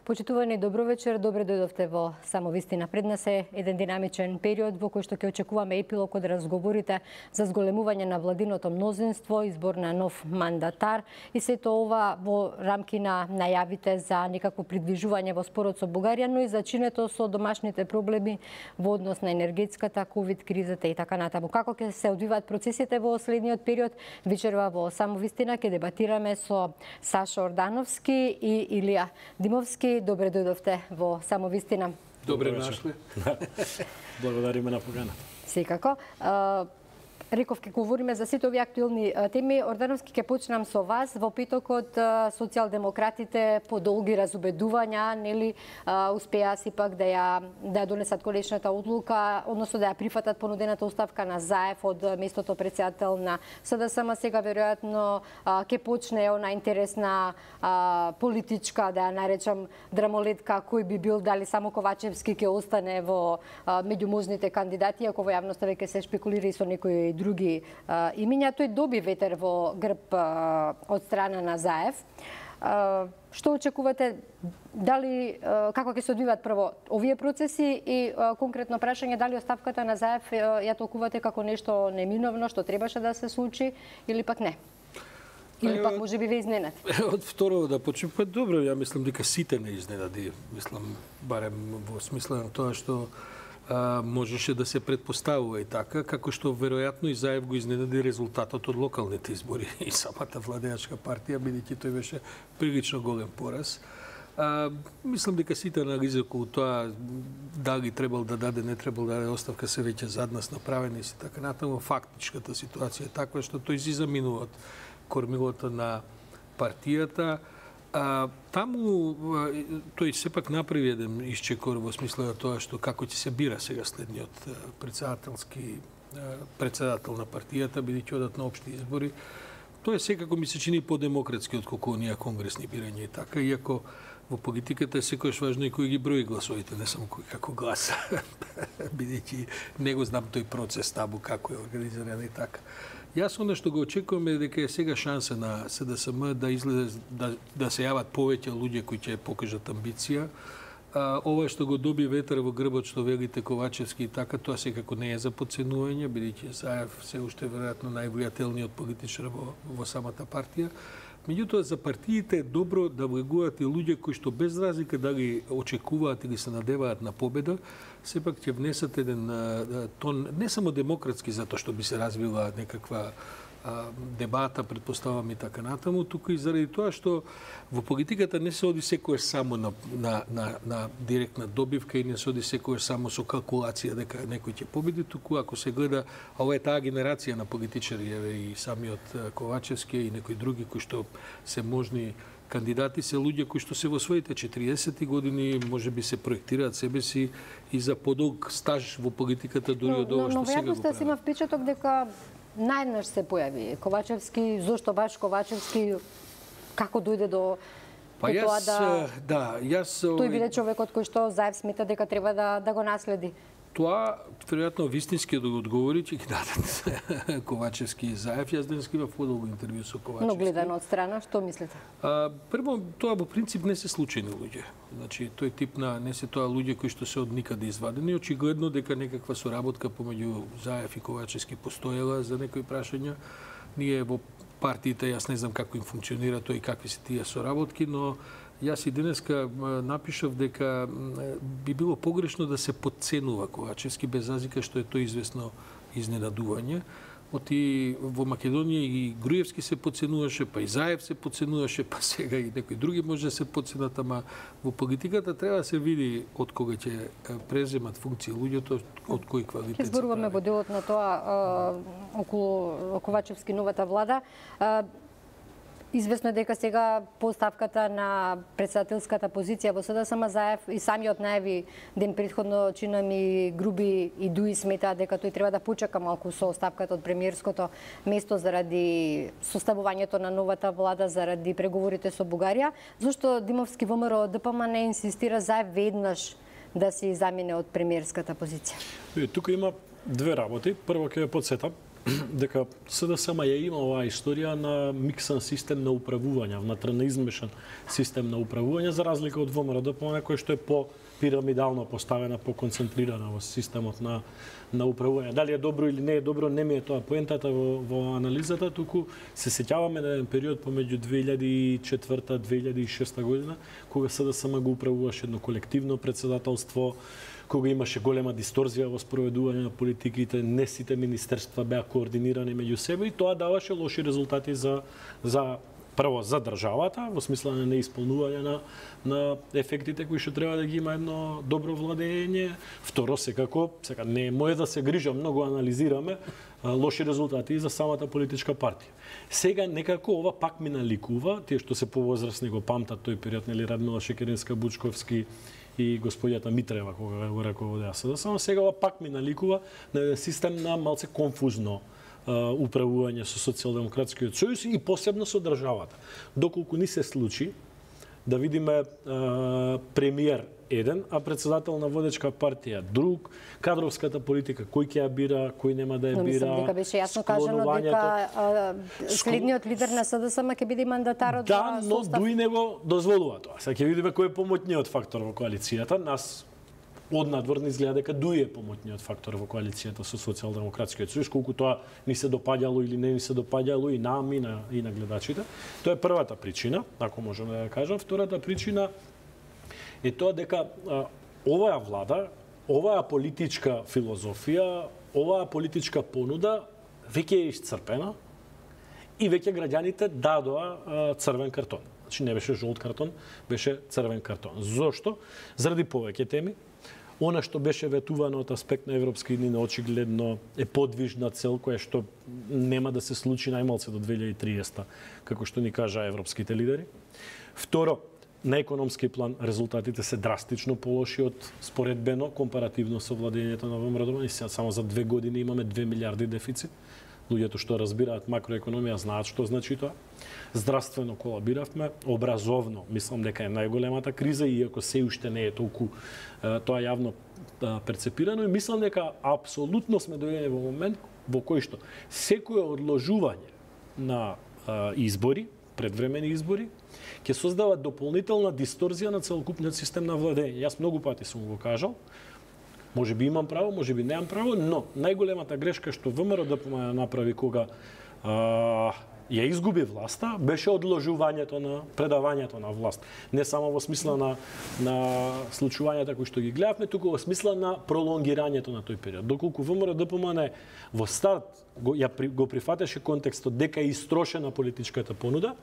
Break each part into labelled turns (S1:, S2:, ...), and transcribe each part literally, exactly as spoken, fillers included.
S1: Почитувани, добро вечер, добре дојдовте во Само вистина. Пред нас е еден динамичен период во кој што ќе очекуваме епилог од разговорите за зголемување на владиното мнозинство, избор на нов мандатар и сето ова во рамки на најавите за некакво придвижување во спорот со Бугарија, но и зачинето со домашните проблеми во однос на енергетската, ковид кризата и така натаму. Како ќе се одвиваат процесите во следниот период? Вечерва во Само вистина ќе дебатираме со Саша Ордановски и Илија Димовски. Добре дојдовте во Само вистина.
S2: Добре нашли.
S3: Благодариме на покана.
S1: Секако. Реков, ќе говориме за сите овие актуелни теми. Ордановски, ќе почнам со вас. Во петокот социјалдемократите по долги разубедувања, нели, успеа сепак да ја да ја донесат конечната одлука, односно да ја прифатат понудената оставка на Заев од местото претседател на СДСМ. Сега веројатно ќе почне она интересна политичка, да ја наречам, драмолетка, кој би бил, дали само Ковачевски ќе остане во меѓу можните кандидати, ако во јавноста веќе се шпекулира и со некои други а, имиња. Тој доби ветер во грб а, од страна на Заев. А, што очекувате? Дали, а, како ќе се одвиваат прво овие процеси и а, конкретно прашање, дали оставката на Заев а, ја толкувате како нешто неминовно, што требаше да се случи или пак не? Или пак може би ве изненади?
S2: Од второ да почнем, па добро, ја мислам дека сите не изненади. Мислам, барем во смисла на тоа што А, можеше да се предпоставува и така, како што веројатно и Заев го изненади резултатот од локалните избори и самата владеачка партија, бидејќи тој беше прилично голем пораз. А, мислам дека сите анализи околу тоа дали требал да даде, не требал да даде оставка се веќе зад нас направени и така натаму. Фактичката ситуација е таква што тој си заминува од кормилото на партијата. А, таму тој сепак направи еден исчекор во смисла на тоа што како ќе се бира сега следниот председателски председател на партијата, бидејќи одат на општи избори. Тоа е секако ми се чини подемократски отколку оние конгресни бирања и така, иако во политиката е секојаш важно и кој ги брои гласовите, не само кој како гласа, бидејќи не го знам тој процес табу како е организиран и така. Јас оно што го очекувам е дека е сега шанса на СДСМ да излезе да, да се јават повеќе луѓе кои ќе покажат амбиција. А, ова што го доби ветер во грбот што велите Ковачевски и така, тоа секако не е за подценување, бидејќи Заев се уште веројатно највлијателниот политичар во, во самата партија. Меѓутоа, за партиите е добро да влегуваат и луѓе кои што без разлика дали очекуваат или се надеваат на победа, сепак ќе внесат еден а, тон, не само демократски, затоа што би се развила некаква а, дебата, предпоставам и така натаму, туку и заради тоа што во политиката не се оди секојаш само на, на, на, на директна добивка и не се оди секојаш само со калкулација дека некој ќе победи, туку ако се гледа, а ова е таа генерација на политичари, еве и самиот Ковачевски и некои други кои што се можни кандидати, се луѓе кои што се во своите четириесети години можеби се проектираат себе си и за подолг стаж во политиката дури од ова што сега го прават.
S1: Но, но, но има впечаток дека наједнаш се појави Ковачевски, зошто баш Ковачевски, како дојде до
S2: па јас,
S1: тоа да,
S2: да јас
S1: тој биде човекот кој што Заев смета дека треба да да го наследи?
S2: Тоа, веројатно, вистински да го одговори, ќе ги дадат Ковачевски и Заев. Јас денес имав подолго интервју со Ковачевски.
S1: Но гледано од страна, што мислите?
S2: А, прво, тоа во принцип не се случајни луѓе. Значи, тој тип на, не се тоа луѓе кои што се од никаде извадени. Очигледно дека некаква соработка помеѓу Заев и Ковачевски постоела за некои прашања. Ние во партиите, јас не знам како им функционира тој и какви се тие соработки, но јас и денеска напишав дека би било погрешно да се подценува Ковачевски, без разлика што е тој известно изненадување. Оти во Македонија и Груевски се подценуваше, па и Заев се подценуваше, па сега и некои други може да се подценат, ама во политиката треба да се види од кога ќе преземат функции луѓето, од кој квалитет.
S1: Ќе зборуваме во делот на тоа околу Ковачевски новата влада. Известно е дека сега поставката на председателската позиција во СДСМ Заев и самиот најави ден претходно чина ми Груби и Дуи сметаат дека тој треба да почека малку со оставката од премиерското место заради составувањето на новата влада, заради преговорите со Бугарија. Зошто Димовски ВМРО ДПМН не инсистира Заев веднаш да се замине од премиерската позиција?
S3: Тука има две работи. Прво ќе ја подсетам дека СДСМ ја има оваа историја на миксан систем на управување, внатре на измешан систем на управување, за разлика од ВМРО-ДПМН, кој што е по пирамидално поставена, поконцентрирана во системот на на управување. Дали е добро или не е добро, не ми е тоа поентата во, во анализата, туку се сеќаваме на еден период помеѓу две илјади и четврта две илјади и шеста година, кога СДСМ го управуваше едно колективно председателство, кога имаше голема дисторзија во спроведување на политиките, не сите министерства беа координирани меѓу себе и тоа даваше лоши резултати за за прво за државата, во смисла на неисполнување на, на ефектите кои што треба да ги има едно добро владење. Второ, секако, сега не може да се грижам, многу анализираме а, лоши резултати и за самата политичка партија. Сега некако ова пак ми наликува, тие што се повозрасни го памтат тој период, нели Радмила Шекеринска, Бучковски и господјата Митрева кога го раководеа СДСМ, сега ова пак ми наликува на еден систем на малце конфузно управување со Социјалдемократскиот сојуз и посебно со државата. Доколку ни се случи да видиме а, премиер еден, а председател на водечка партија друг, кадровската политика кој ќе ја бира, кој нема да ја бира.
S1: Но дека беше јасно кажано дека а, следниот лидер на СДСМ ќе биде мандатар од
S3: да, но
S1: состав.
S3: дуи не го дозволува тоа. Сега ќе видиме кој е помотниот фактор во коалицијата. Нас од надвор не изгледа дека дуи е помотниот фактор во коалицијата со Социјалдемократскиот сојуз, колку тоа ни се допаѓало или не ни се допаѓало и нам и на, и на гледачите. Тоа е првата причина, ако можеме да ја кажам. Втората причина е тоа дека а, оваа влада, оваа политичка филозофија, оваа политичка понуда веќе е исцрпена и веќе граѓаните дадоа а, црвен картон. Значи не беше жолт картон, беше црвен картон. Зошто? Заради повеќе теми. Она што беше ветувано од аспект на европски иднина очигледно е подвижна цел која што нема да се случи најмалце до две илјади и триесета, како што ни кажа европските лидери. Второ, на економски план резултатите се драстично полоши од споредбено компаративно со владењето на ВМРО. И сега само за две години имаме две милиарди дефицит. Луѓето што разбираат макроекономија знаат што значи тоа. Здравствено колабиравме, образовно мислам дека е најголемата криза, иако се уште не е толку тоа јавно перцепирано, и мислам дека апсолутно сме дојдени во момент во кој што секое одложување на избори, предвремени избори, ќе создава дополнителна дисторзија на целокупниот систем на владење. Јас многу пати сум го кажал, може би имам право, може би немам право, но најголемата грешка што ВМРО-ДПМН направи кога а, ја изгуби власта, беше одложувањето на предавањето на власт. Не само во смисла на, на случувањата кои што ги гледавме, туку во смисла на пролонгирањето на тој период. Доколку ВМРО-ДПМН во старт го, ја, го прифатеше контекстот дека е истрошена политичката понуда,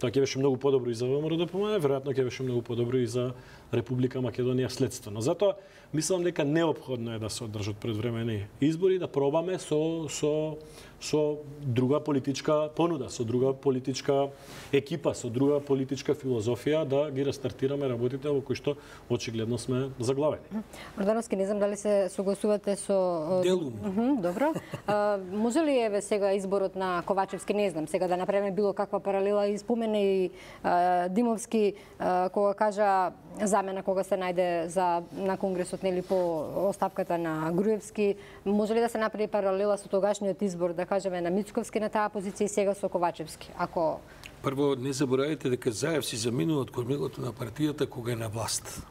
S3: тоа ќе беше многу подобро и за ВМРО-ДПМН, веројатно ќе беше многу подобро и за Република Македонија следствено. Затоа мислам дека неопходно е да се одржат предвремени избори, да пробаме со со со друга политичка понуда, со друга политичка екипа, со друга политичка филозофија да ги рестартираме работите во кои што очигледно сме заглавени.
S1: Ордановски, не знам дали се согласувате со
S2: делумно.
S1: Добро. А, може ли еве сега изборот на Ковачевски, не знам, сега да направиме било каква паралела, и спомене и а, Димовски а, кога кажа замена кога се најде за на конгресот, нели, по оставката на Груевски, може ли да се направи паралела со тогашниот избор, да кажеме, на Мицковски на таа позиција и сега со Ковачевски? Ако
S2: прво не заборавајте дека Заев си заминува од кормилото на партијата кога е на власт.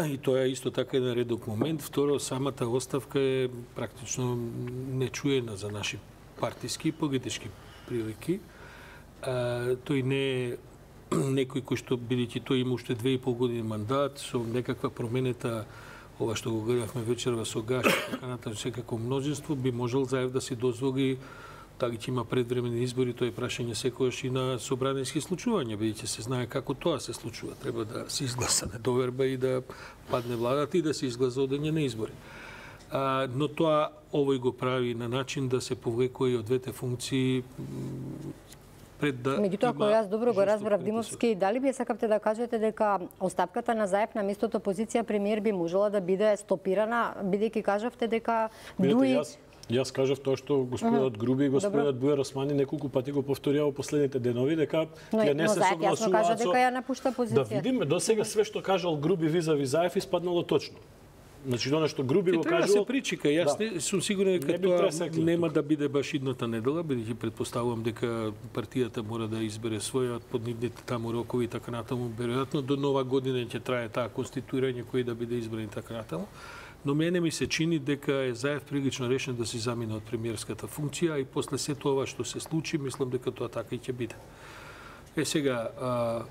S2: И тоа е исто така еден редок момент. Второ, самата оставка е практично нечуена за наши партиски и политички прилики. А, тој не е некој кој што, бидејќи тој има уште две и пол години мандат, со некаква променета, ова што го гледавме вечерва со Гаш, така натаму секако множество, би можел Заев да си дозволи, дали ќе има предвремени избори, тоа е прашање секогаш и на собраниски случувања, бидејќи се знае како тоа се случува. Треба да се изгласа недоверба и да падне владата и да се изгласа одење на избори. А, но тоа овој го прави на начин да се повлекува и од двете функции пред да.
S1: Меѓутоа, ако јас добро го разбрав, Димовски, дали би сакавте да кажете дека оставката на Заев на местото позиција премиер би можела да биде стопирана, бидејќи кажавте дека дуи
S3: Јас, јас кажав тоа што господинот Груби и господинот Бујар Османи неколку пати го повторија во последните денови, дека ја не се согласуваат
S1: кажа дека ја напушта позиција.
S3: Да видиме, до сега све што кажал Груби визави Заев испаднало точно. Значи, тоа што Груби го
S2: кажувал... Треба да се причека. Јас
S3: да.
S2: не сум сигурен дека тоа нема да биде баш идната недела, бидејќи претпоставувам дека партијата мора да избере својот под нивните таму рокови и така натаму. Веројатно до нова година ќе трае таа конституирање кој да биде избран и така натаму. Но мене ми се чини дека е Заев прилично решен да се замине од премиерската функција и после се тоа што се случи, мислам дека тоа така и ќе биде. Е сега, а,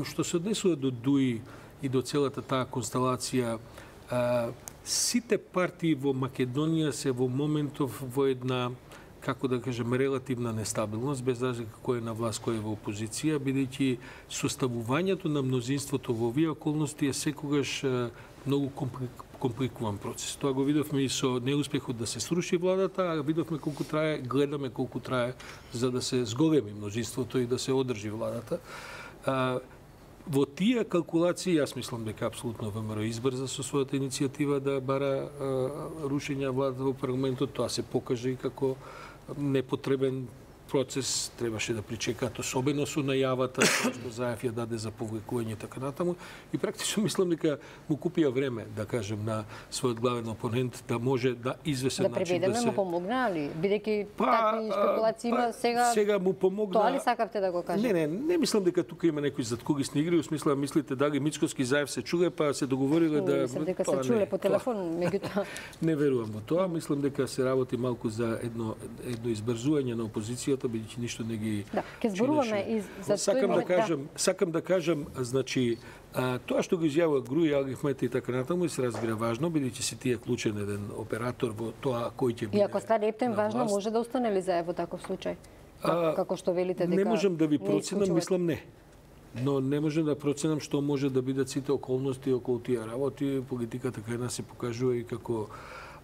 S2: што се однесува до Дуи и до целата таа констелација, а, сите партии во Македонија се во моментов во една, како да кажем, релативна нестабилност, без разлика кој е на власт, кој е во опозиција, бидејќи составувањето на мнозинството во овие околности е секогаш а, многу компликуван процес. Тоа го видовме и со неуспехот да се сруши владата, а видовме колку трае, гледаме колку трае за да се зголеми мнозинството и да се одржи владата. А, во тие калкулации, јас мислам дека апсолутно ВМРО избрза со својата иницијатива да бара а, рушење владата во парламентот. Тоа се покаже и како непотребен процес, требаше да причекаат, особено со најавата што Заев ја даде за повлекување и така натаму. И практично мислам дека му купија време, да кажем, на својот главен опонент да може да извесен
S1: да
S2: начин да се...
S1: Да му помогна ли? Бидејќи
S2: па,
S1: такви спекулации има сега...
S2: Сега му помогна...
S1: Тоа ли сакавте да го кажете?
S2: Не, не, не мислам дека тука има некои задкулисни игри, усмисла мислите дали Мицкоски Заев се чуле, па се договориле да...
S1: Мислам дека се чуле по телефон, меѓутоа...
S2: Не верувам во тоа, мислам дека се работи малку за едно едно избрзување на опозицијата, бидејќи ништо не ги...
S1: Да, ке зборуваме и за
S2: сакам
S1: тој
S2: да кажам, да. Сакам да кажам, значи, а, тоа што го изјавува Груи, Алгифмет и така натаму се разбира важно, бидејќи си тие клучен еден оператор во тоа кој ќе биде.
S1: И ако стане ептен важно, може да остане ли Заев во таков случај? А, како што велите дека...
S2: Не можам да ви проценам, мислам не. Но не можам да проценам што може да бидат сите околности околу тие работи. Политиката кај нас се покажува и како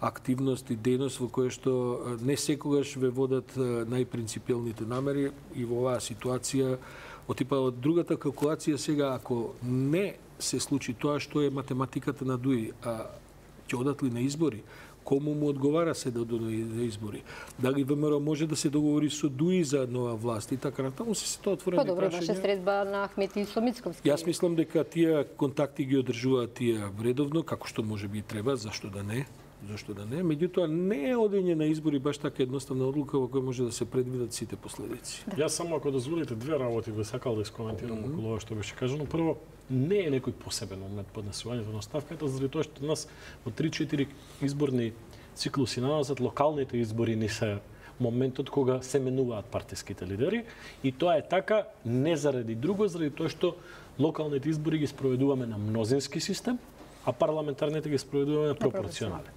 S2: активност и дејност во која што не секогаш ве водат најпринципиелните намери и во оваа ситуација од типа од другата калкулација сега ако не се случи тоа што е математиката на Дуи, а ќе одат ли на избори, кому му одговара се да одат на избори? Дали ВМРО може да се договори со Дуи за нова власт и така натаму се тоа отворени прашања.
S1: Па добро, имаше средба на Ахмети и со Мицковски.
S2: Јас мислам дека тие контакти ги одржуваат тие редовно, како што може би треба, зашто да не? Зашто да не? Меѓутоа не е одење на избори баш така едноставна одлука во која може да се предвидат сите последици.
S3: Да. Јас само ако дозволите две работи би сакал да искоментирам mm -hmm. околу ова што беше кажано. Прво, не е некој посебен момент поднесувањето на оставката, заради тоа што нас во три-четири изборни циклуси назад локалните избори не се моментот кога се менуваат партиските лидери и тоа е така не заради друго, заради тоа што локалните избори ги спроведуваме на мнозински систем, а парламентарните ги спроведуваме на пропорционален.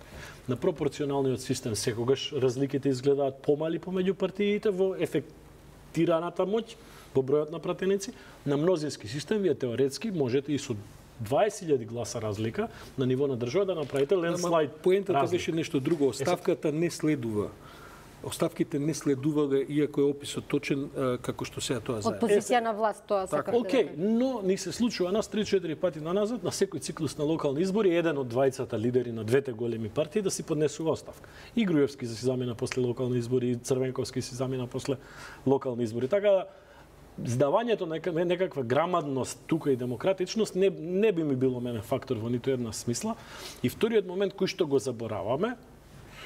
S3: На пропорционалниот систем секогаш разликите изгледаат помали помеѓу партиите во ефектираната моќ, во бројот на пратеници. На мнозински систем вие теоретски можете и со дваесет илјади гласа разлика на ниво на држава да направите ленслайд.
S2: Поентата беше нешто друго. Оставката не следува. Оставките не следувале, иако е описот точен, како што сега тоа заедно.
S1: Од позиција на власт тоа сакате да
S3: Океј, но ни се случува нас три-четири пати на назад, на секој циклус на локални избори, еден од двајцата лидери на двете големи партии да си поднесува оставка. И Груевски си замина после локални избори, и Црвенковски си замина после локални избори. Така да, здавањето на некаква грамадност тука и демократичност не, не би ми било мене фактор во ниту една смисла. И вториот момент кој што го забораваме,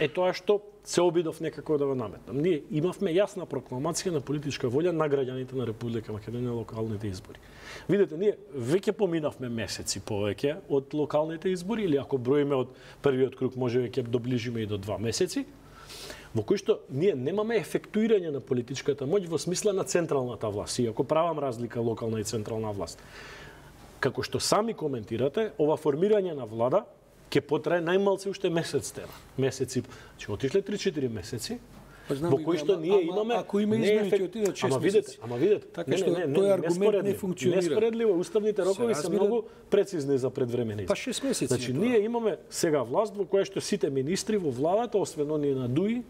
S3: е тоа што се обидов некако да го наметнам. Ние имавме јасна прокламација на политичка волја на граѓаните на Република Македонија на локалните избори. Видете, ние веќе поминавме месеци повеќе од локалните избори, или ако броиме од првиот круг, може веќе доближиме и до два месеци, во кој што ние немаме ефектуирање на политичката моќ во смисла на централната власт, иако правам разлика локална и централна власт. Како што сами коментирате, ова формирање на влада ќе потрае најмалце уште месец дена. Месеци, ќе отишле три-четири месеци, во кои што ние имаме...
S2: Ако има измени, ќе отидат шест месеци.
S3: Ама видете,
S2: така што тој аргумент не функционира.
S3: Неспоредливо, уставните рокови се многу прецизни за предвремени.
S2: Па шест месеци.
S3: Значи, ние имаме сега власт во која што сите министри во владата, освен оние на Дуи,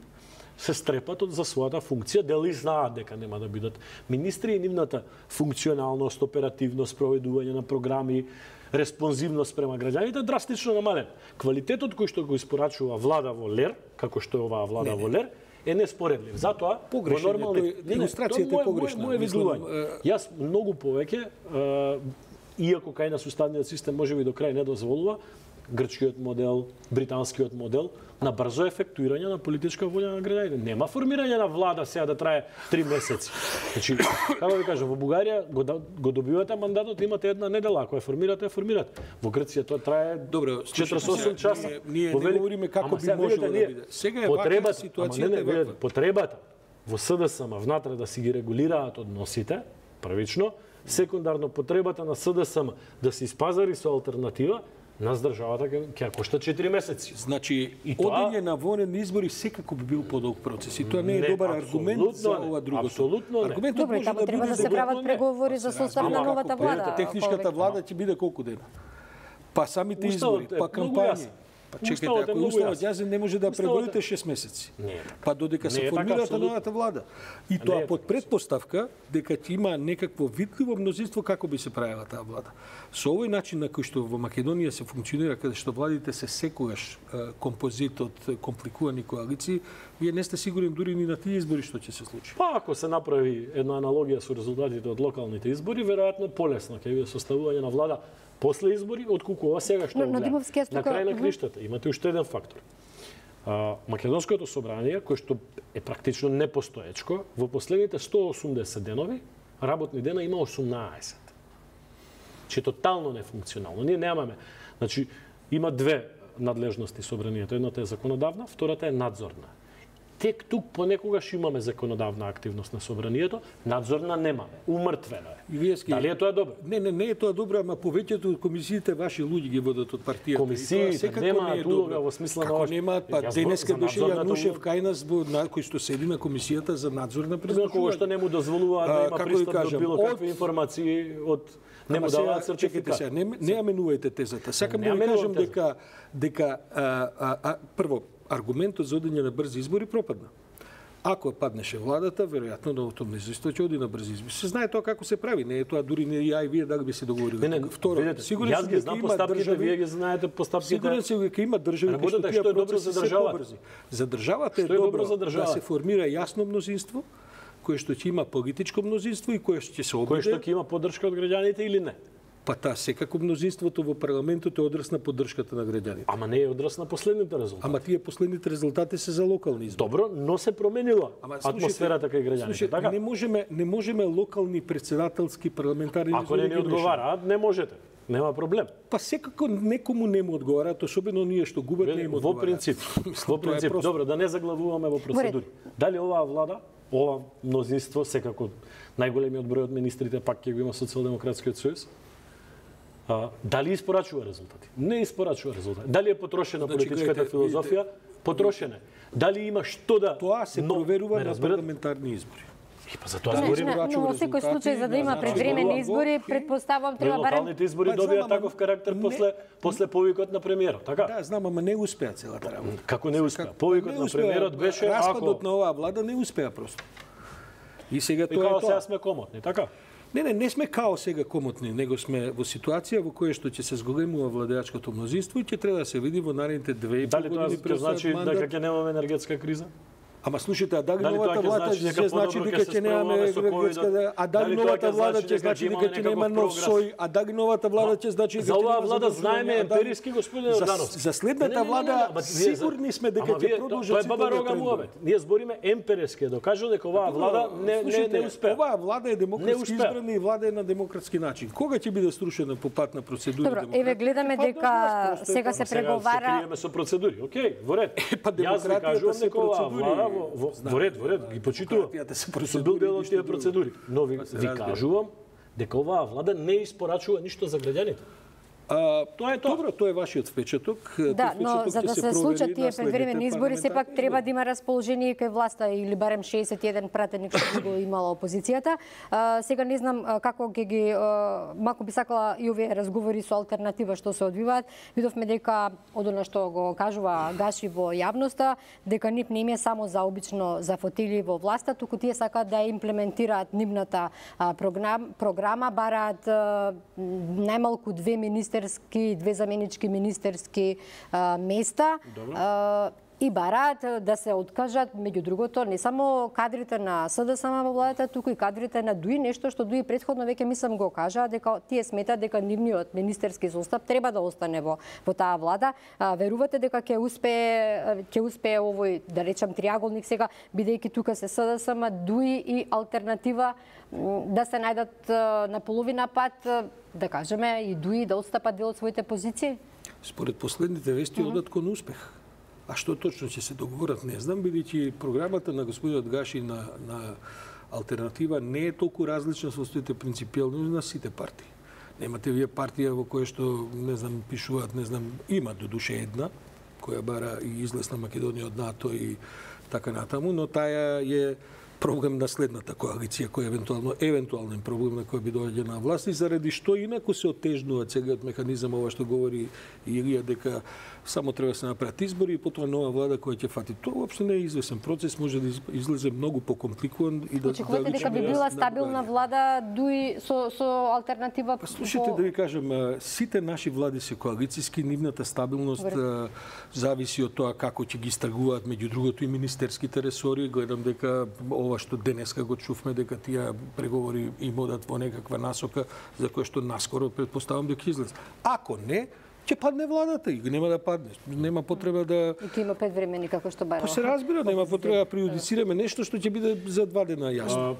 S3: се стрепат од за својата функција, дали знаат дека нема да бидат министри и нивната функционалност, оперативност, проведување на програми, респонзивност према граѓаните драстично намален. Квалитетот кој што го испорачува влада во Лер, како што е оваа влада не, не. во Лер, е неспоредлив. Затоа
S2: во нормални илустрацијата е погрешна.
S3: Моје видување. Јас многу повеќе, иако кај нас уставниот систем може би до крај не дозволува, грчкиот модел, британскиот модел, на брзо ефектуирање на политичка волја на граѓаните. Нема формирање на влада сега да трае три месеци. Значи, како ви кажам, во Бугарија го, го добивате мандатот, имате една недела, ако ја формирате, ја формирате. Во Грција тоа трае
S2: Добро,
S3: четиридесет и осум часа.
S2: Ние, ние не говориме како би можело да биде. Сега е ваква ситуацијата е ваква.
S3: Потребата во СДСМ внатре да си ги регулираат односите, првично, секундарно потребата на СДСМ да се испазари со алтернатива, нас државата ќе ја кошта четири месеци.
S2: Значи,
S3: и тоа...
S2: одење на вонени избори секако би бил подолг процес. И тоа не е
S3: не,
S2: добар аргумент за
S3: не,
S2: ова другото.
S3: Апсолутно не.
S2: Аргументот
S1: Добро,
S2: може
S1: тамо
S2: да
S1: треба
S2: биде
S1: да се прават преговори за состав на новата влада.
S2: Техничката влада ќе биде колку дена? Па самите избори, па кампањи. Па чекайте, ако уставот јазен не може да преброите шест месеци. Па додека се формирате новата влада. И тоа под предпоставка дека ќе има некакво видливо мнозинство како би се правила таа влада. Со овој начин на кој што во Македонија се функционира, каде што владите се секогаш композит од компликувани коалиции, вие не сте сигурни дури ни на тие избори што ќе се случи.
S3: Па ако се направи една аналогија со резултатите од локалните избори, веројатно полесно ќе биде составување на влада после избори, отколку ова сега што
S1: но,
S3: гледа.
S1: На
S3: крај на криштата имате уште еден фактор. А, Македонското собрание, кој што е практично непостоечко, во последните сто осумдесет денови, работни дена има осумнаесет. Че тотално нефункционално. Ние немаме. Значи, има две надлежности собранието. Едната е законодавна, втората е надзорна. Тек тук понекогаш имаме законодавна активност на собранието, надзорна немаме. Умртвено е.
S2: И вие ски...
S3: Дали е тоа добро?
S2: Не, не, не е тоа добро, ама повеќето од комисиите ваши луѓе ги водат од партијата.
S3: Комисиите немаат улога во смисла на
S2: ова. Како немаат, па денеска беше Јанушев кај нас на кој што седи на комисијата за надзор на
S3: презначување. Кога што не му дозволува да има пристап до било какви информации од не му даваат сертификат.
S2: Не не аменувајте тезата. Сакам да ви кажам дека дека прво аргументот за одење на брзи избори пропадна. Ако паднеше владата, веројатно новото мнозинство ќе оди на брзи избори. Се знае тоа како се прави, не е тоа дури не ја и вие да би се договорили.
S3: Не, не,
S2: Второ,
S3: видите,
S2: сигурен
S3: јас ги знам постапките, вие ги знаете постапките.
S2: Сигурен сум дека има држави кои што тие процеси се побрзи. За државата е добро да се формира јасно мнозинство, кое што ќе има политичко мнозинство и кое што ќе се обиде.
S3: Кое што ќе има поддршка од граѓаните или не?
S2: Па таа секако мнозинството во парламентот е одраз на поддршката на граѓаните.
S3: Ама не е одраз на последните резултати.
S2: Ама тие последните резултати се за локални избори.
S3: Добро, но се променила Ама, атмосферата кај граѓаните.
S2: Слушайте, така? Не можеме не можеме локални председателски парламентарни
S3: избори. Ако не ни одговараат, не можете. Нема проблем.
S2: Па секако некому не му одговараат, особено ние што губат не им одговараат.
S3: Во принцип, во принцип, добро, да не заглавуваме во процедури. Дали оваа влада, ова мнозинство, секако најголемиот број од министрите пак ќе го има Социјалдемократскиот сојуз, А, дали испорачува резултати? Не испорачува резултати. Дали е потрошена значи, политичката гледате, филозофија? Потрошена. Дали има што да...
S2: Тоа се но, проверува на парламентарни избори.
S3: И па за тоа збориме.
S1: Но во секој случај за да има предвремени избори, предпоставувам треба барем
S3: локалните избори добија таков карактер после после повикот на премиерот, така?
S2: Да, знам, ама не успеа целата работа.
S3: Како не успеа? Повикот на премиерот беше ако
S2: распадот на оваа влада не успеа просто. И сега тоа е тоа.
S3: Сега сме комотни, така?
S2: Не, не, не сме као сега комотни, него сме во ситуација во која што ќе се зголемува владеачкото мнозинство и ќе треба да се види во наредните две и пол години.
S3: Дали тоа значи дека ќе немаме енергетска криза?
S2: Ама слушайте, а дали новата влада ќе значи дека ќе немаме енергетска, а дали новата влада ќе значи дека ќе нема нов сој, а дали новата влада ќе значи дека
S3: за оваа влада знаеме емпириски господин Орданов.
S2: За следната влада сигурни сме дека ќе продолжат.
S3: Тоа е баба рога муавет. Ние збориме емпириски, докажува дека оваа влада не не не успеа.
S2: Оваа влада е демократски избрана и влада е на демократски начин. Кога ќе биде струшена по пат на процедури демократски?
S1: Добро, еве гледаме дека сега се преговара.
S3: Се криеме со процедури. Океј, во ред. Јас ви кажувам дека оваа влада Во, во, во ред, во ред, ги почитувам. Се бил дел од тие процедури. Но ви, ви кажувам дека оваа влада не испорачува ништо за граѓаните.
S2: А, тоа е тоа. Добро, тоа е вашиот впечаток.
S1: Да, но за да се случат тие предвремени избори, сепак треба да има расположение кај власта или барем шеесет и еден пратеник што го имала опозицијата. А, сега не знам како ќе ги а, мако би сакала и овие разговори со алтернатива што се одвиваат. Видовме дека од она што го кажува Гаши во јавноста, дека нив не им е само за обично за фотили во власта, туку тие сакаат да имплементираат нивната а, програм, програма, бараат а, најмалку две министерски, две заменички министерски а, места. А, и бараат да се откажат, меѓу другото, не само кадрите на СДСМ во владата, туку и кадрите на ДУИ, нешто што ДУИ претходно веќе мислам го кажа, дека тие сметат дека нивниот министерски состав треба да остане во во таа влада. А, верувате дека ќе успее ќе успее овој, да речам, триаголник сега, бидејќи тука се СДСМ, ДУИ и алтернатива, да се најдат на половина пат, да кажеме, и ДУИ да отстапат дел од своите позиции?
S2: Според последните вести одат кон успех. А што точно ќе се договорат, не знам, бидејќи програмата на господинот Гаши на, на алтернатива не е толку различна со своите принципиални на сите партии. Немате вие партија во која што, не знам, пишуваат, не знам, има до душе една, која бара и излез на Македонија од НАТО и така натаму, но таа е проблем на следната коалиција, кој евентуално евентуален проблем на кој би доаѓа на власт и заради што инаку се отежнува целиот механизам, ова што говори Илија, дека само треба да се направат избори и потоа нова влада која ќе фати. Тоа воопшто не е извесен процес, може да излезе многу покомпликуван и да
S1: очекувате дека би била стабилна влада ДУИ со со алтернатива.
S2: Па слушайте, да ви кажам, сите наши влади се коалициски, нивната стабилност а, зависи од тоа како ќе ги истргуваат, меѓу другото и министерските ресори. Гледам дека ова што денеска го чувме, дека тие преговори им одат во некаква насока за која што наскоро претпоставам дека излез. Ако не, ќе падне владата и нема да падне. Нема потреба да...
S1: И ќе има пет времени, како што барало.
S2: Па се разбира, нема потреба да приудицираме нешто што ќе биде за два дена јасно.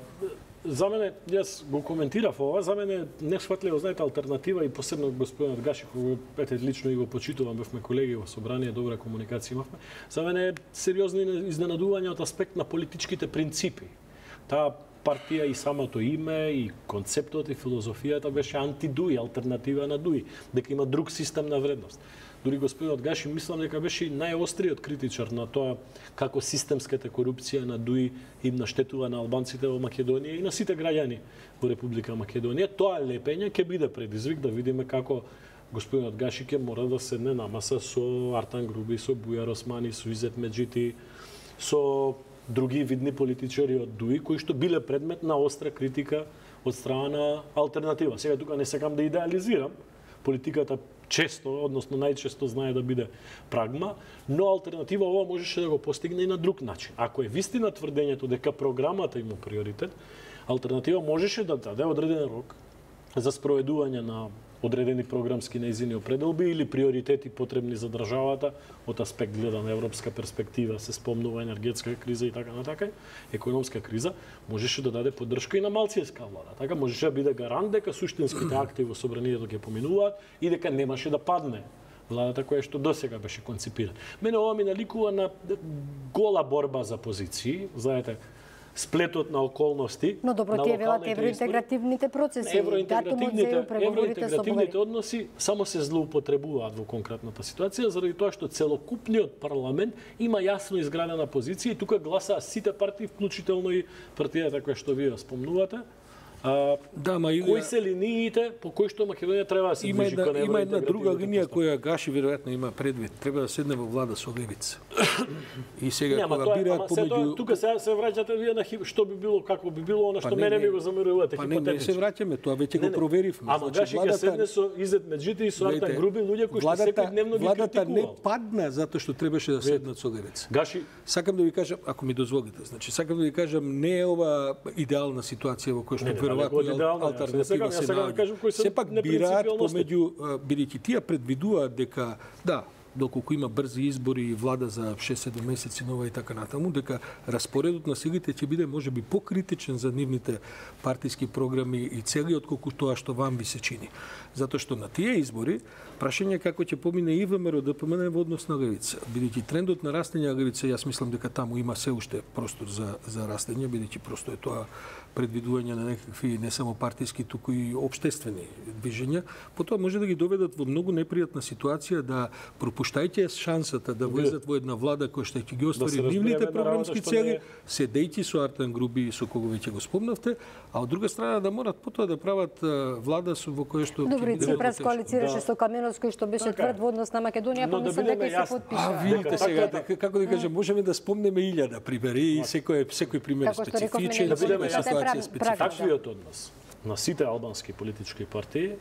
S3: За мене, јас го коментирав ова, за мене несфатливо, знаете, алтернатива и посебно господинот Гаши, кога ете лично и го почитувам, бевме колеги во собрание, добра комуникација имавме. За мене е сериозно изненадување од аспект на политичките принципи. Таа партија и самото име, и концептот и филозофијата беше анти-ДУИ, алтернатива на ДУИ, дека има друг систем на вредност. Дури господинот Гаши мислам дека беше најостриот критичар на тоа како системската корупција на ДУИ им наштетува на албанците во Македонија и на сите граѓани во Република Македонија. Тоа лепење ќе биде предизвик да видиме како господинот Гаши ќе мора да седне на маса со Артан Груби, со Бујар Османи, со Изет Меджити, со други видни политичари од ДУИ кои што биле предмет на остра критика од страна на алтернатива. Сега тука не сакам да идеализирам, политиката често, односно најчесто знае да биде прагма, но алтернатива ова можеше да го постигне и на друг начин. Ако е вистина тврдењето дека програмата има приоритет, алтернатива можеше да даде одреден рок за спроведување на одредени програмски нејзини определби или приоритети потребни за државата од аспект гледа на европска перспектива, се спомнува енергетска криза и така натака, економска криза, можеше да даде поддршка и на малцијска влада. Така можеше да биде гарант дека суштинските акти во собранието ќе поминуваат и дека немаше да падне владата која што досега беше концепирана. Мене ова ми наликува на гола борба за позиции, знаете, сплетот на околности.
S1: Но добро, тие велат евроинтегративните процеси,
S3: евроинтегративните, евроинтегративните односи само се злоупотребуваат во конкретната ситуација, заради тоа што целокупниот парламент има јасно изградена позиција и тука гласаа сите партии, вклучително и партијата која што вие спомнувате. А,
S2: да, ма и
S3: кои се линиите по кои што Македонија треба да се движи кон евроинтегративните?
S2: Има една друга линија која Гаши веројатно има предвид. Треба да седне во влада со левица. И сега
S3: кога бираат помеѓу тука сега се враќате вие на што би било, како би било она што мене ми го замерувате хипотетично.
S2: Па не, не се враќаме, тоа веќе го проверивме.
S3: Ама Гаши ќе седне со Изет Меджити и со Артан Груби, луѓе кои што секојдневно ги критикуваат.
S2: Владата не падна затоа што требаше да седнат со левица.
S3: Гаши,
S2: сакам да ви кажам, ако ми дозволите, значи сакам да ви кажам, не е ова идеална ситуација во која што веројатно алтернатива се наоѓа. Сепак бираат помеѓу, бидејќи тие предвидуваат дека, да, доколку има брзи избори и влада за шест-седум месеци нова и така натаму, дека распоредот на силите ќе биде можеби покритичен за нивните партиски програми и цели отколку тоа што вам ви се чини. Затоа што на тие избори прашање како ќе помине и ВМРО да помине во однос на левица. Бидејќи трендот на растење на левица, јас мислам дека таму има се уште простор за за растење, бидејќи просто е тоа предвидување на некакви не само партиски, туку и општествени движења, потоа може да ги доведат во многу непријатна ситуација да пропуштајќи шансата да влезат во една влада која што ќе ги оствари да нивните програмски цели, не... седејќи со Артан Груби и со кого веќе го спомнавте, а од друга страна да морат потоа да прават влада со во која што
S1: Добро, Ципрас коалицираше со Каменовски што беше тврд во однос на Македонија, па мислам дека се потпиша.
S2: А видите сега, како да кажам, можеме да спомнеме илјада примери и секој секој пример специфичен.
S3: Таквиот однос на сите албански политички партии,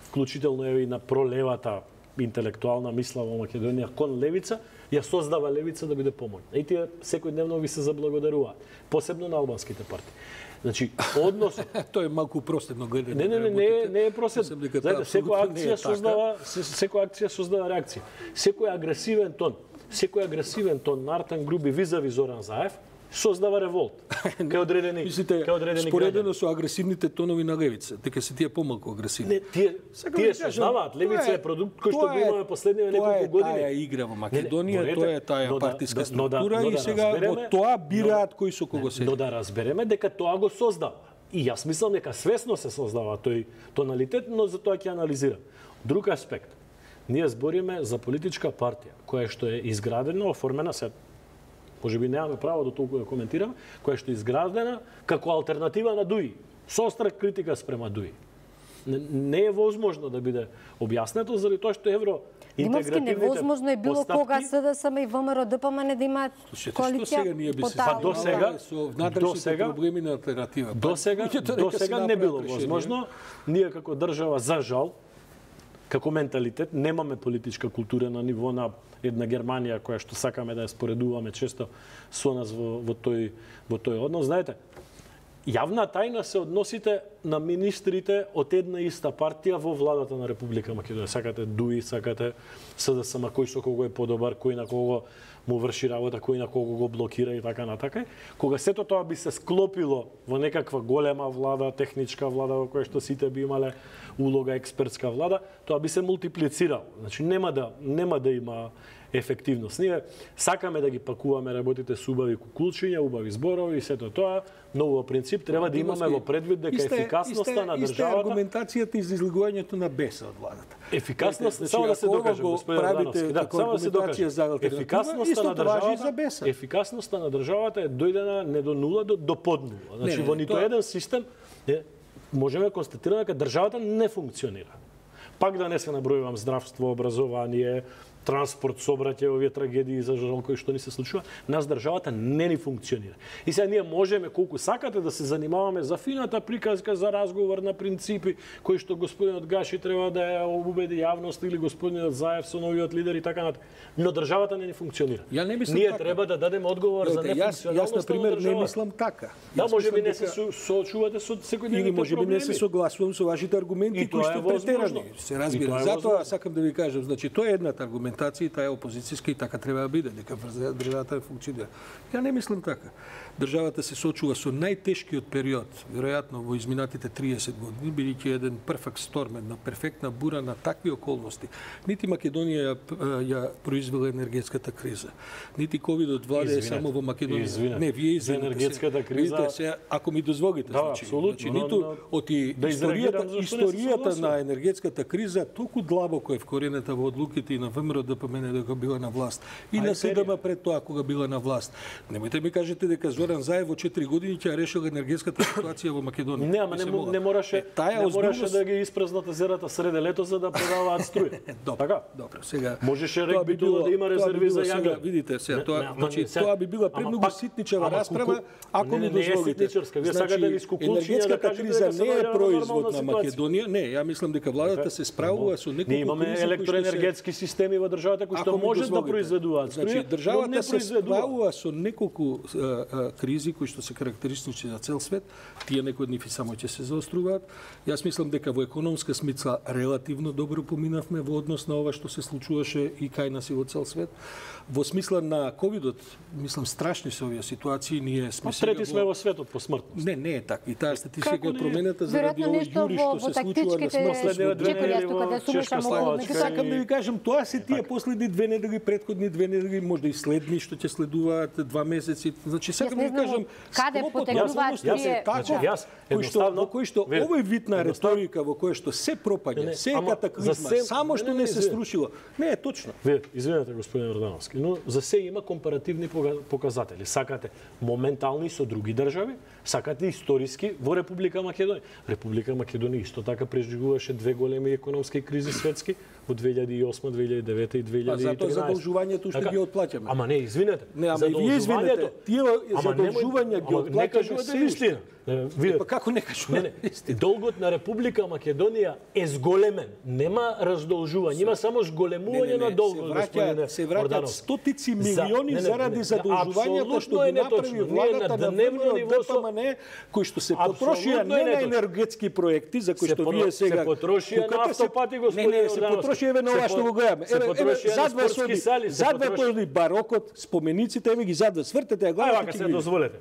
S3: вклучително и на пролевата интелектуална мисла во Македонија кон левица, ја создава левица да биде помоќна. И тие секојдневно ви се заблагодаруваат, посебно на албанските партии. Значи, однос
S2: Тоа е малку простено гледање.
S3: Не, не, не, не, е, не е простено. Знаете, секоја акција создава, секоја акција создава реакција. Секој агресивен тон, секој агресивен тон на Артан Груби визави Зоран Заев создава револт кај одредени
S2: Мислите,
S3: кај одредени
S2: споредено
S3: граѓани.
S2: со агресивните тонови на левица, дека се тие помалку агресивни.
S3: Не, тие
S2: Сакам
S3: тие
S2: да кажам,
S3: создаваат, левица
S2: тоа
S3: е продукт кој што го имаме последниве неколку години.
S2: Тоа е таа игра во Македонија,
S3: Не, не,
S2: тоа е таа
S3: но да-
S2: партиска
S3: но да-
S2: структура
S3: но
S2: и
S3: да
S2: сега во
S3: разбереме-
S2: тоа бираат кој со кого се.
S3: Но да разбереме дека тоа го создава. И јас мислам дека свесно се создава тој тоналитет, но за тоа ќе анализирам. Друг аспект. Ние збориме за политичка партија која што е изградена, оформена се можеби немаме право до толку да коментираме, која што е изградена како алтернатива на ДУИ, со остра критика спрема ДУИ. Не, не е возможно да биде објаснето заради тоа што евро
S1: Димовски,
S3: интегративните
S1: невозможно е било
S3: постапки-
S1: кога СДСМ и ВМРО ДПМН да имаат
S2: Слушайте, што
S1: коалиција
S2: сега ние би
S1: по
S2: се
S1: таа
S3: Па до
S1: линија?
S3: сега-
S2: со
S3: до
S2: внатрешните
S3: сега-
S2: проблеми на алтернатива.
S3: До сега,
S2: Луѓето
S3: до
S2: нека си
S3: сега не
S2: направат
S3: било
S2: решение.
S3: возможно. Ние како држава, за жал, како менталитет, немаме политичка култура на ниво на една Германија која што сакаме да ја споредуваме често со нас во, во тој во тој однос. Знаете, јавна тајна се односите на министрите од една иста партија во владата на Република Македонија. Сакате ДУИ, сакате СДСМ, кој со кого е подобар, кој на кого му врши работа, кој на кого го блокира и така натака. Кога сето тоа би се склопило во некаква голема влада, техничка влада во која што сите би имале улога експертска влада, тоа би се мултиплицирало. Значи нема да нема да има ефективност. Ние сакаме да ги пакуваме работите со убави кукулчиња, убави зборови и сето тоа, но во принцип треба да имаме во предвид дека
S2: Исте-
S3: ефикасноста
S2: исте-
S3: на
S2: Исте
S3: државата.
S2: аргументацијата и за излегувањето на беса од владата.
S3: Ефикасност,
S2: Значи,
S3: само да се
S2: ако ова
S3: докаже,
S2: го
S3: господин
S2: правите
S3: Ордановски, да,
S2: како
S3: само да се
S2: аргументација
S3: докаже.
S2: за алтернатива,
S3: Ефикасноста
S2: истото
S3: на
S2: важи и
S3: државата,
S2: за беса.
S3: ефикасноста на државата е дојдена не до нула, до, до под нула. Значи
S2: Не, не,
S3: во нито
S2: тоа-
S3: еден систем е, можеме да констатираме дека државата не функционира. Пак да не се набројувам здравство, образование, транспорт, сообраќај, овие трагедии за жал кои што ни се случува, нас државата не ни функционира. И сега ние можеме колку сакате да се занимаваме за фината приказка за разговор на принципи кои што господинот Гаши треба да ја убеди јавност или господинот Заев со новиот лидер и така натаму. Но државата не ни функционира.
S2: Ја не мислам
S3: ние
S2: така.
S3: треба да дадеме одговор за
S2: Гледате, јас, јас
S3: нефункционалноста
S2: на пример
S3: на
S2: не
S3: државата.
S2: мислам така.
S3: Да,
S2: Јас
S3: може би
S2: мислам
S3: не се
S2: дека-
S3: со- соочувате со секојдневните
S2: Или може би не се
S3: проблеми.
S2: согласувам со вашите аргументи
S3: И
S2: кои
S3: тоа е
S2: што
S3: возможно.
S2: претерани. Се
S3: И
S2: разбира.
S3: тоа е
S2: Затоа
S3: возможно.
S2: сакам да ви кажам, значи тоа е едната аргументација и таа е опозицијска и така треба да биде, дека врз- државата не функционира. Ја не мислам така. Државата се соочува со најтешкиот период, веројатно во изминатите триесет години, бидејќи еден перфект шторм, една перфектна бура на такви околности. Нити Македонија ја, ја произвела енергетската криза, нити ковидот владее
S3: Извинете,
S2: само во Македонија.
S3: извинете.
S2: Не, вие
S3: За
S2: извинете
S3: енергетската
S2: се.
S3: криза-
S2: Видите се, ако ми дозволите,
S3: Да,
S2: значи,
S3: апсолутно,
S2: значи
S3: но-
S2: ниту
S3: но-
S2: од и
S3: да изреагирам
S2: историјата,
S3: зашто не се
S2: историјата
S3: согласувам.
S2: на енергетската криза толку длабоко е вкоренета во одлуките и на ВМРО ДПМН дека била на власт и на СДМ пред тоа кога била на власт. Немојте ми кажете дека Зоран Заев во четири години ќе ја решил енергетската ситуација во Македонија.
S3: Не, ама не,
S2: Мислам,
S3: му-
S2: ова.
S3: не мораше,
S2: Е, таа
S3: не мораше
S2: озбилност-
S3: да ги испразнат езерата среде лето за да продаваат струја.
S2: Добро,
S3: Така?
S2: добро. Сега
S3: Можеше
S2: тоа
S3: регби тоа да има
S2: тоа би
S3: резерви
S2: било
S3: за
S2: сега,
S3: јаган.
S2: видите сега,
S3: Не,
S2: тоа
S3: не, ама
S2: значи
S3: не, сега-
S2: тоа би била
S3: ама
S2: премногу
S3: пак-
S2: ситничава
S3: ама
S2: расправа,
S3: куку-
S2: ако
S3: не,
S2: ми
S3: не, не е
S2: дозволите.
S3: ситничарска. Вие сакате низ кукулчиња да
S2: енергетската
S3: кажете
S2: криза
S3: дека се
S2: не е
S3: наоѓаме во
S2: производ
S3: нормална
S2: на
S3: ситуација.
S2: Македонија. Не, ја мислам дека владата се справува со неколку
S3: Ние имаме
S2: кризи кои што се-
S3: електроенергетски системи во државата кои што
S2: Ако ми
S3: можат да
S2: дозволите.
S3: произведуваат
S2: Значи,
S3: струја, но
S2: државата
S3: не
S2: се
S3: произведува.
S2: справува со неколку а, а, кризи кои што се карактеристични за цел свет. Тие некои од нив и само ќе се заоструваат. Јас мислам дека во економска смисла релативно добро поминавме во однос на ова што се случуваше и кај нас и во цел свет. Во смисла на ковидот, мислам страшни се овие ситуации, ние сме
S3: Па трети сме
S2: во...
S3: во светот по смртност.
S2: Не, не е така. И таа статистика
S3: Како
S2: е
S3: не е?
S2: променета заради
S1: Веројатно
S2: овој
S1: нешто
S2: јури
S1: во,
S2: што
S1: во
S2: се случува на
S1: тактичките
S2: смртност.
S3: Последниве две
S1: чекори,
S3: недели
S1: јас тука
S3: во
S1: да сумешам
S3: Чешка,
S1: многу,
S3: Словачка
S1: меѓутоа
S2: Сакам да ви кажам, тоа се тие последни две недели, претходни две недели, можда и следни што ќе следуваат два месеци. Значи сакам да
S1: не
S2: ви
S1: знам
S2: кажам,
S1: каде
S2: склопот
S1: потекнуваат
S2: на околностите
S1: тие-
S2: е таков,
S3: Значи, јас
S2: кој што
S3: едноставно-
S2: во кој што
S3: Ве-
S2: овој вид на
S3: едноставно-
S2: реторика во кој што се пропаѓа,
S3: Не,
S2: се е
S3: ама
S2: катаклизма,
S3: за се-
S2: само што
S3: не, не,
S2: не се
S3: не,
S2: струшило. Не е точно.
S3: Вие, извинете, господин Ордановски, но за се има компаративни пога- показатели. Сакате моментални со други држави, сакате историски во Република Македонија. Република Македонија исто така преживуваше две големи економски кризи светски од две илјади и осма - две илјади и две илјади и тринаесетта.
S2: А затоа задолжувањето што
S3: Така,
S2: ги отплаќаме.
S3: Ама не, извинете.
S2: Не, ама и вие извинете. Тие задолжувања ги
S3: отплаќаме. Не кажувате
S2: се
S3: вистина. Видете.
S2: Па како не кажувате
S3: истина? Долгот на Република Македонија е зголемен. Нема раздолжување, има само зголемување на долгот, господине
S2: се враќаат
S3: Орданов.
S2: стотици милиони
S3: не, не,
S2: заради
S3: не,
S2: задолжувањата што ги направи владата на ДПМН, кои што се потрошија не на енергетски проекти за кои што вие сега
S3: се потрошија на автопати, господине
S2: Не, не, се потрошија еве на ова што го гледаме. Еве, еве задва соди, задва тој барокот, спомениците, еве ги задва, свртете ја главата.
S3: Ајде, вака се дозволете.